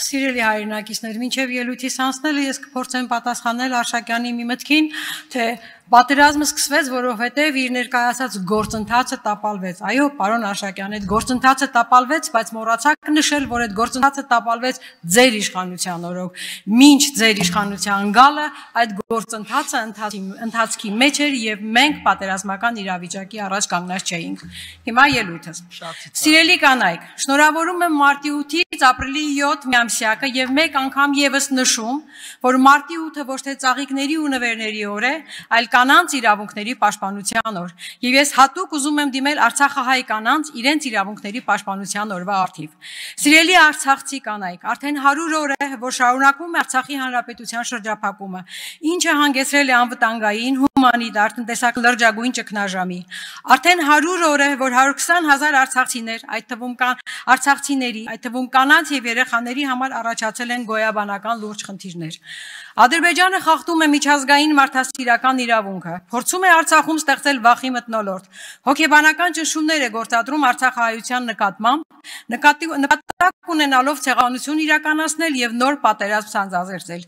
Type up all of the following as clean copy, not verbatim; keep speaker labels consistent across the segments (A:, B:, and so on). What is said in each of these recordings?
A: Սիրելի հայրենակիցներ, մինչև ելույթիս անցնելը ես կփորձեմ պատասխանել Արշակյանի մի մտքին, թե պատերազմը սկսվեց, որովհետև իր ներկայացած գործընթացը տապալվեց։ Այո, պարոն Արշակյան, այդ գործընթացը տապալվեց, բայց մոռացաք նշել, որ այդ գործընթացը տապալվեց ձեր իշխանության օրոք։ Մինչ ձեր իշխանության գալը այդ գործընթացը ընթացքի մեջ էր եւ մենք պատերազմական իրավիճակի առաջ կանգնած չէինք։ Հիմա ելույթս։ Սիրելի կանայք, շնորհավորում եմ մարտի 8-ից ապրիլի 7 միամսյակը եւ մեկ անգամ եւս նշում, որ մարտի 8-ը ոչ թե ծաղիկների ու նվերների օր է, այլ կանանց իրավունքների պաշտպանության օր։ Եվ ես հատուկ ուզում եմ դիմել Արցախահայ կանանց իրենց իրավունքների պաշտպանության օրվա առթիվ։ Սիրելի արցախցի կանայք, արդեն 100 օր է, որ շարունակվում է Արցախի հանրապետության շրջափակումը, ինչը հանգեցրել է անվտանգային, հումանիտար, տնտեսական լրջագույն ճգնաժամի։ Արդեն 100 օր է, որ 120,000 արցախցիներ, այդ թվում կանանց եւ երեխաների համար առաջացել են գոյաբանական լուրջ խնդիրներ։ Ադրբեջանը խախտում է միջազգային մարդասիրական իրավունքը, փորձում է Արցախում ստեղծել վախի մթնոլորտ, հոգեբանական ճնշումներ է գործադրում արցախահայության նկատմամբ, նպատակ ունենալով ցեղասպանություն իրականացնել եւ նոր պատերազմ սանձազերծել։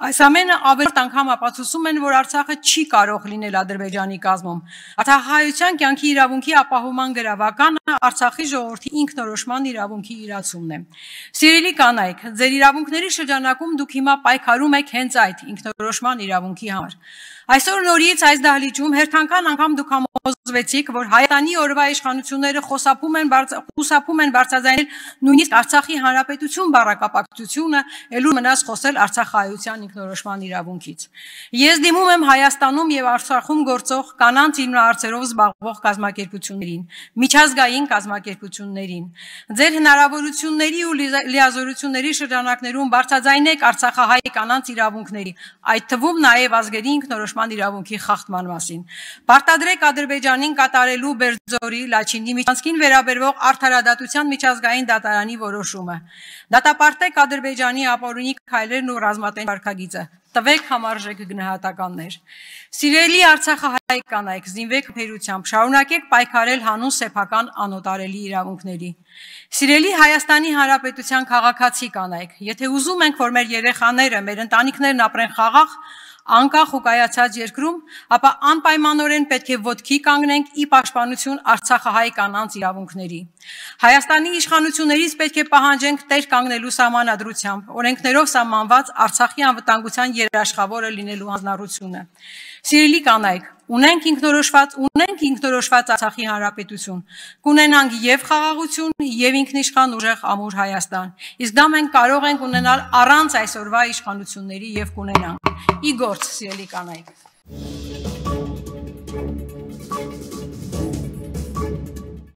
A: Այս ամենը ավելի անգամ ապացուցում են, որ Արցախը չի կարող լինել Ադրբեջանի կազմում։ Արցախահայության կյանքի իրավունքի ապահովման գրավականը Արցախի ժողովրդի ինքնորոշման իրավունքի իրացումն է։ Սիրելի կանայք, ձեր իրավունքների շրջանակում դուք հիմա պայքարում եք հենց այդ ինքնորոշման իրավունքի համար։ Այսօր նորից այս դահլիճում հերթական անգամ դուք համոզվեցիք, որ Հայաստանի օրվա իշխանությունները խուսափում են բարձրաձայնել նույնիսկ Արցախի հանրապետություն բառակապակցությունը, ելույթ մնաց խոսել Արցախահայության ինքնորոշման իրավունքից։ Ես դիմում եմ Հայաստանում եւ Արցախում գործող կանանց իրավունքներով զբաղվող կազմակերպություններին, միջազգային կազմակերպություններին։ Ձեր հնարավորությունների ու լիազորությունների շրջանակներում բարձրաձայնեք Արցախահայ կանանց իրավունքների, այդ թվում նաեւ ազգերի ինքնորոշման իրավունքի խախտման մասին։ Պարտադրեք Ադրբեջանին կատարելու Բերձորի, Լաչինի միջանցքին վերաբերող արդարադատության միջազգային դատարանի որոշումը։ Դատապարտեք Ադրբեջանի ապօրինի քայլերն ու ռազմատենչ վարքագիծը։ Տվեք համարժեք գնահատականներ։ Սիրելի Արցախահայ կանայք, զինվեք բերությամբ, շարունակեք պայքարել հանուն սեփական անօտարելի իրավունքների։ Սիրելի Հայաստանի Հանրապետության քաղաքացի կանայք, եթե ուզում ենք, որ մեր երեխաները, մեր ընտանիքներն ապրեն խաղաղ, անկախ ու կայացած երկրում, ապա անպայմանորեն պետք է ոտքի կանգնենք ի պաշտպանություն Արցախահայ կանանց իրավունքների։ Հայաստանի իշխանություններից պետք է պահանջենք տեր կանգնելու սահմանադրությամբ, օրենքներով սահմանված Արցախի անվտանգության երաշխավորը լինելու հանձնառությունը։ Սիրելի կանայք, ունենք ինքնորոշված Արցախի հանրապետություն, կունենանք եւ խաղաղություն, եւ ինքնիշխան ուժեղ ամուր Հայաստան։ Իսկ դա մենք կարող ենք ունենալ առանց այսօրվա իշխանությունների եւ կունենանք։ Ի գործ, սիրելի կանայք։